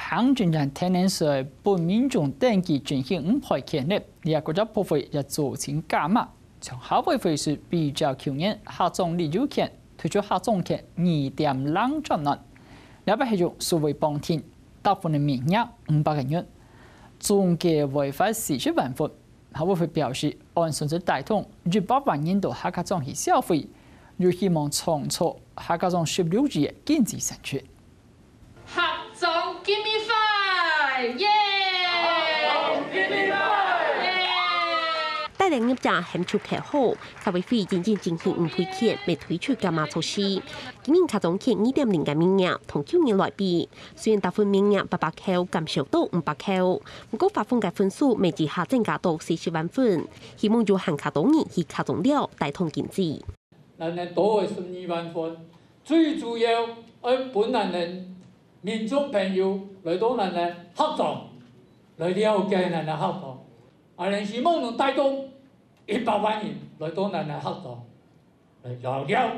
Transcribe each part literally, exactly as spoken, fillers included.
行政院定定係分民眾登記振興五倍權利，這个國家部會也做成加碼，從下回會時比照舊年客庄旅遊權推出客庄券二點零專案，這擺係用數位綁定，大部分个名額五百个人，總計會發四十萬份。客委會表示，按算係帶動一百萬人到客家庄去消費，又希望創造客家庄十六億个經濟產值。 客庄今日快，耶！帶領業者喊出口號，客委會因應振興五倍券，乜推出加碼措施。今年客庄券二點零个名額同舊年來比，雖然大份名額八百箍減少到五百箍，毋過發放个份數乜一下增加到四十萬份，希望有還較多人去客庄尞，帶動經濟。 咱个多个十二萬份，最主要愛分咱个民眾朋友來到咱个客庄，來了解咱个客庄。啊，咱希望能帶動一百萬人來到咱个客庄，來尞尞，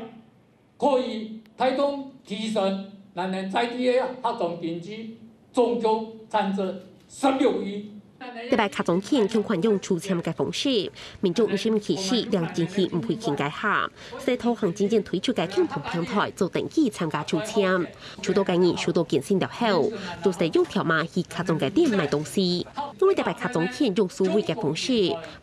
可以帶動提升咱个在地个客庄經濟，總共產值十六億。 這擺客庄券共款用抽籤个方式，民眾毋使去市領振興五倍券个下，係透過行政院推出个共同平台做登記參加抽籤。抽到个人收到簡訊了後，就係用條碼去客庄个店買東西。因為這擺客庄券用數位个方式，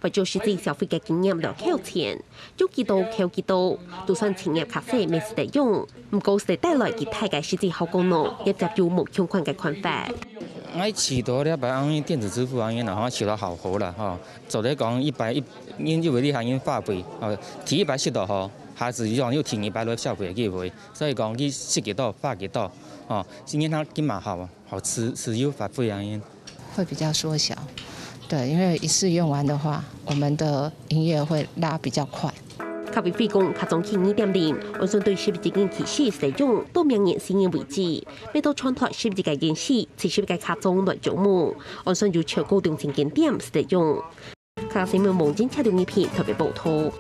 為著實際消費个經驗來扣錢，用幾多扣幾多，就算錢額較細，乜係得用。 毋過係帶來幾大个實際效果呢？業者有無共款个看法。𠊎試著這擺恁樣電子支付恁樣啦，吼，試著效果啦，吼。做得講一擺，因為你還用花費，吼，提一擺食到吼，下次用又提二擺來消費个機會，所以講你食幾多，花幾多，吼，今年佢今嘛好，好自，自由發揮恁樣。 會比較縮小。對，因為一次用完的話，我們的營業會拉比較快。客委會講，客庄券二點零，按算對十一月起始使用，到明年四月為止，每到全台十一个縣市、七十个客庄來招募，按算有超過兩千間店使用。客家新聞網陳嘉良影片特別報導。